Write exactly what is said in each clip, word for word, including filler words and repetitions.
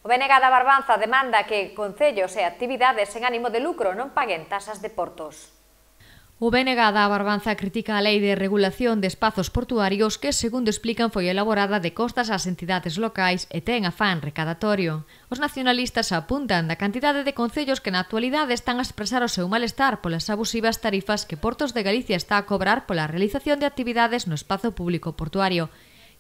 O B N G da Barbanza demanda que concellos e actividades sen ánimo de lucro non paguen tasas de portos. O B N G da Barbanza critica a Lei de Regulación de Espazos Portuarios que, segundo explican, foi elaborada de costas ás entidades locais e ten afán recadatorio. Os nacionalistas apuntan da cantidade de concellos que na actualidade están a expresar o seu malestar polas abusivas tarifas que Portos de Galicia está a cobrar pola realización de actividades no espazo público portuario,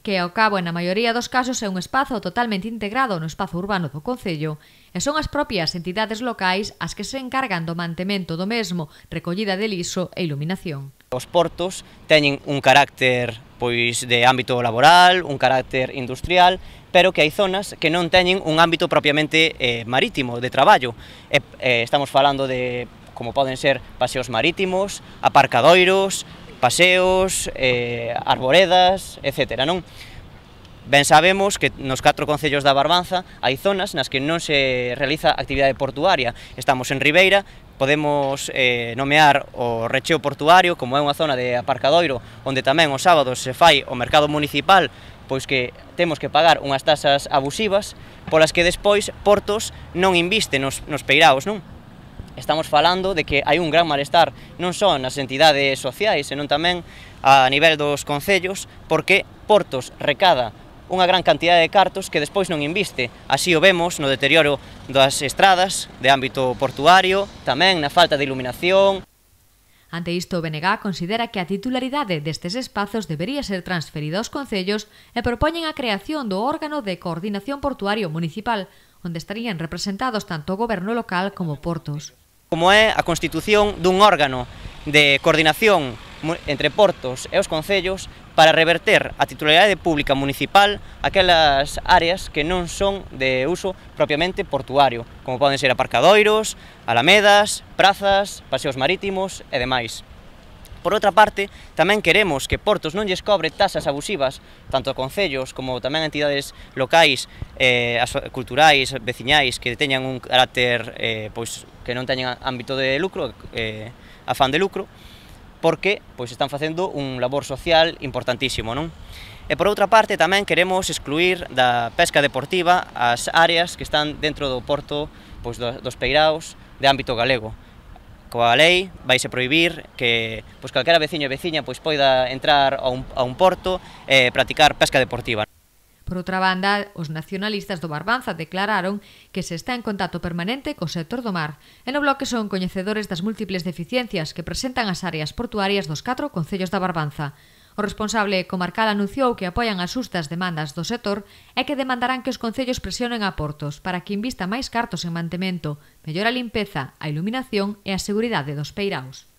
que ao cabo en a maioría dos casos é un espazo totalmente integrado no espazo urbano do concello, e son as propias entidades locais as que se encargan do mantemento do mesmo, recollida de lixo e iluminación. Os portos teñen un carácter pois de ámbito laboral, un carácter industrial, pero que hai zonas que non teñen un ámbito propiamente eh, marítimo, de traballo. E, eh, estamos falando de, como poden ser, paseos marítimos, aparcadoiros, paseos, eh, arboredas, etcétera, non? Ben sabemos que nos catro concellos da Barbanza hai zonas nas que non se realiza actividade portuaria. Estamos en Ribeira, podemos eh, nomear o recheo portuario, como é unha zona de aparcadoiro, onde tamén os sábados se fai o mercado municipal, pois que temos que pagar unhas tasas abusivas, polas que despois Portos non inviste nos, nos peiraos, non? Estamos falando de que hai un gran malestar non só nas entidades sociais, senón tamén a nivel dos concellos, porque Portos recada unha gran cantidad de cartos que despois non inviste. Así o vemos no deterioro das estradas de ámbito portuario, tamén na falta de iluminación. Ante isto, o B N G considera que a titularidade destes espazos debería ser transferida aos concellos e propoñen a creación do órgano de coordinación portuario municipal, onde estarían representados tanto o goberno local como Portos. Como é a constitución dun órgano de coordinación entre Portos e os concellos para reverter a titularidade pública municipal aquelas áreas que non son de uso propiamente portuario, como poden ser aparcadoiros, alamedas, prazas, paseos marítimos e demais. Por outra parte, tamén queremos que Portos non lles cobre tasas abusivas, tanto a concellos como tamén a entidades locais, eh, culturais, veciñais, que teñan un carácter eh, pois, que non teñan ámbito de lucro, eh, afán de lucro, porque pois, están facendo un labor social importantísimo, non? E por outra parte, tamén queremos excluir da pesca deportiva as áreas que están dentro do porto pois, dos peiraos de ámbito galego. Coa lei vaise prohibir que pois, calquera veciño e veciña pois, poida entrar a un, a un porto e practicar pesca deportiva. Por outra banda, os nacionalistas do Barbanza declararon que se está en contacto permanente co sector do mar e no bloque son coñecedores das múltiples deficiencias que presentan as áreas portuarias dos catro concellos da Barbanza. O responsable comarcal anunciou que apoian as xustas demandas do sector e que demandarán que os concellos presionen a Portos para que invista máis cartos en mantemento, mellora a limpeza, a iluminación e a seguridade dos peiraos.